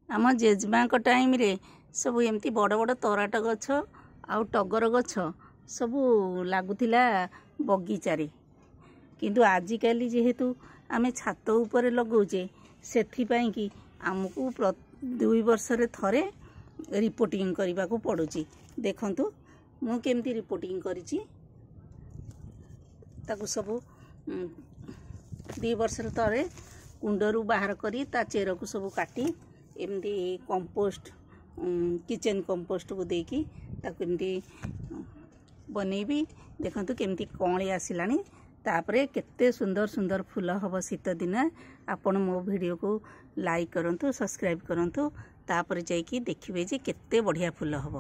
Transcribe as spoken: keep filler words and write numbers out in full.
ଆମ ଜେଜେମାଙ୍କ ଟାଇମ୍ରେ ସବୁ ଏମିତି ବଡ଼ ବଡ଼ ତରାଟ ଗଛ ଆଉ ଟଗର ଗଛ ସବୁ ଲାଗୁଥିଲା ବଗିଚାରେ। କିନ୍ତୁ ଆଜିକାଲି ଯେହେତୁ ଆମେ ଛାତ ଉପରେ ଲଗାଉଛେ, ସେଥିପାଇଁକି ଆମକୁ ଦୁଇ ବର୍ଷରେ ଥରେ ରିପୋର୍ଟିଂ କରିବାକୁ ପଡ଼ୁଛି। ଦେଖନ୍ତୁ ମୁଁ କେମିତି ରିପୋର୍ଟିଂ କରିଛି ତାକୁ। ସବୁ ଦୁଇ ବର୍ଷରେ ଥରେ କୁଣ୍ଡରୁ ବାହାର କରି ତା ଚେରକୁ ସବୁ କାଟି ଏମିତି କମ୍ପୋଷ୍ଟ, କିଚେନ୍ କମ୍ପୋଷ୍ଟକୁ ଦେଇକି ତାକୁ ଏମିତି ବନେଇବି। ଦେଖନ୍ତୁ କେମିତି କଅଁଳି ଆସିଲାଣି। ତାପରେ କେତେ ସୁନ୍ଦର ସୁନ୍ଦର ଫୁଲ ହେବ ଶୀତ ଦିନେ। ଆପଣ ମୋ ଭିଡ଼ିଓକୁ ଲାଇକ୍ କରନ୍ତୁ, ସବସ୍କ୍ରାଇବ୍ କରନ୍ତୁ, ତାପରେ ଯାଇକି ଦେଖିବେ ଯେ କେତେ ବଢ଼ିଆ ଫୁଲ ହେବ।